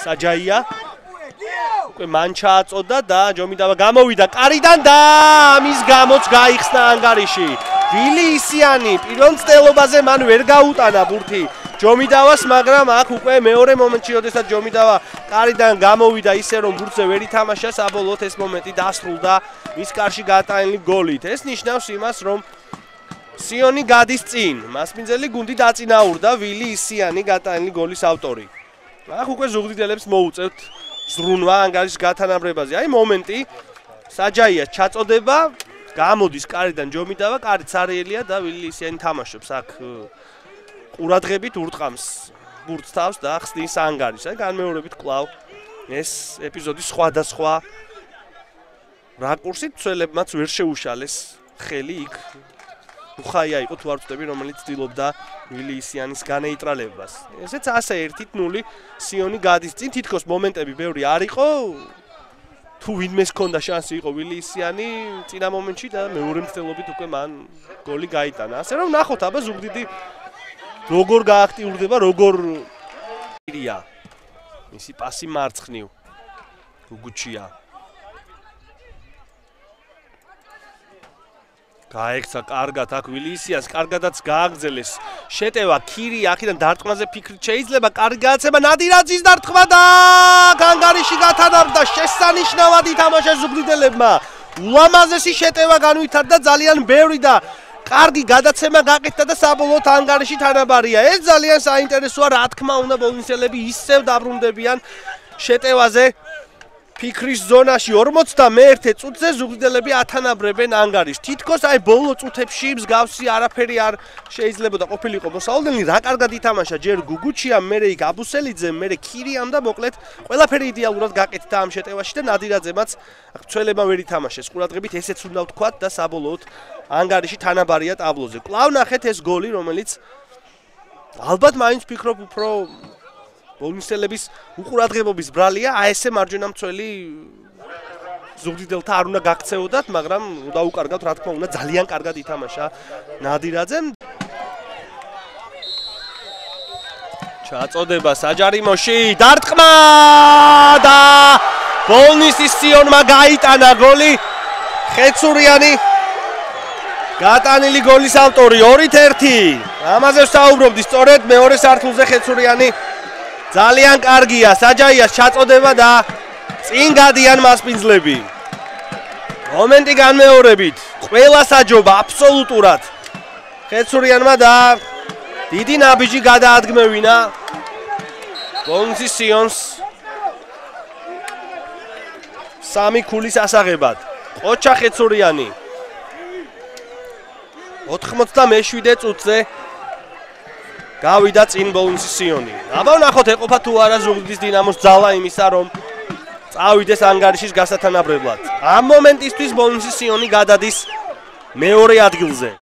საჯაია უკვე მან ჩააწოდა და ჯომიდავა გამოვიდა კარიდან და ამის გამოც გაიხსნა ანგარიში. ვილი ისიანი პირველ მცდელობაზე მან ვერ გაუტანა ბურთი ჯომიდავას, მაგრამ აქ უკვე მეორე მომენტში, როდესაც ჯომიდავა კარიდან გამოვიდა ისე რომ ბურთზე ვერ ითამაშა, საბოლოოდ ეს მომენტი დასრულდა მის კარში გატანილი გოლით. ეს ნიშნავს იმას, რომ სიონი გადის წინ. მასპინძელი გუნდი დაწინაურდა, ვილი ისიანი გატანილი გოლის ავტორი. აქ უკვე ზუგდიდელებს მოუწევთ ზრუნვა ანგარიშის გათანაბრებაზე. აი მომენტი საჯაიას ჩაწოდება, გამოდის კარიდან ჯომიდავა, კარით სარიელია და ვილი ისიანი თამაშობს აქ ყურადღებით ურტყამს ბურთს თავს და ხსნის ანგარიშს. აი განმეორებით კვლავ ეს ეპიზოდი სხვადასხვა რაკურსით ცვლილებმაც ვერ შეუშალეს ხელი იქ უხაია იყო თუ არ ვწდები, რომელიც ცდილობდა ვილი ისიანის განეიტრალებას. ესეც ასე 1-0 სიონი გადის წინ. თითქოს მომენტები ბევრი არ იყო. თუ ვინმეს ჰქონდა შანსი იყო ვილი ისიანი წინა მომენტში და მეორე მცდელობით უკვე მან გოლი გაიტანა. ასე რომ ნახოთ აბა ზუგდიდი როგორ გააქტიურდება, როგორ ირია. მისი პასი მარცხნივ გუგუჩია. გაექცა კარგად აქ ვილი ისიანს, კარგადაც გააგრძელეს შეტევა ქირი აქედან დარტყმაზე ფიქრით შეიძლება კარგი გააცემა ნადირაძის დარტყმა და ანგარიში გათანაბრდა. შესანიშნავად ითამაშა ზუგდიდელებმა. ულამაზესი შეტევა განვითარდა ძალიან ბევრი და კარგი გადაცემა გაკეთდა და საბოლოოდ ანგარიში თანაბარია. ეს ძალიან საინტერესოა, რა თქმა უნდა ბოლნისელები ისევ დაბრუნდებიან შეტევაზე. ფიქრის ზონაში 41 წუთზე ზუგდიდელები ათანაბრებენ ანგარიშს. თითქოს აი ბოლო წუთებში მსგავსი არაფერი არ შეიძლებოდა ყოფილიყო მოსავლდენი. რა კარგად ითამაშა ჯერ გუგუჩიამ, მერე იქ აბუსელიძემ, მერე ქირიამ და მოკლედ ყველაფერი იდეალურად გაკეთდა ამ შეტევაში და ნადირაძემაც ცველებმა ვერ ითამაშეს. ყურადღებით ესეც უნდა ვთქვათ და საბოლოოდ ანგარიში თანაბარია ტაბლოზე. კვლავ ნახეთ ეს გოლი, რომელიც ალბათ მაინც ვფიქრობ უფრო ბოლნისელების უყურადღებობის ბრალია. აი ესე მარჯვენა მცველი ზუგდიდელთა არ უნდა გაქცეოდათ, მაგრამ დაუკარგავთ, რა თქმა უნდა, ძალიან კარგად ითამაშა ნადირაძემ. ჩაწოდება საჯარიმოში, დარტყმა და ბოლნისის სიონმა გაიტანა გოლი. ხეცურიანი გატანილი გოლის ავტორი 2-1. ამაზე ვსაუბრობდი სწორედ მეორე სართულზე ხეცურიანი ძალიან კარგია. საჯაიას ჩაწოდება და წინ გადიან მასპინძლები. მომენტი განმეორებით. ყველა საჯობა აბსოლუტურად ხეცურიანმა და დიდი ნაბიჯი გადაადგმევინა ბოლნისის სიონს 3 ქულის ასაღებად. ყოჩა ხეცურიანი 97 წუთზე გავიდა წინ ბოლნისის სიონი. აბა ნახოთ ეყოფა თუ არა ზუგდიდის დინამოს ძალა იმისა, რომ წავიდეს ანგარიშის გასათანაბრებლად. ამ მომენტისთვის ბოლნისის სიონი გადადის მეორე ადგილზე.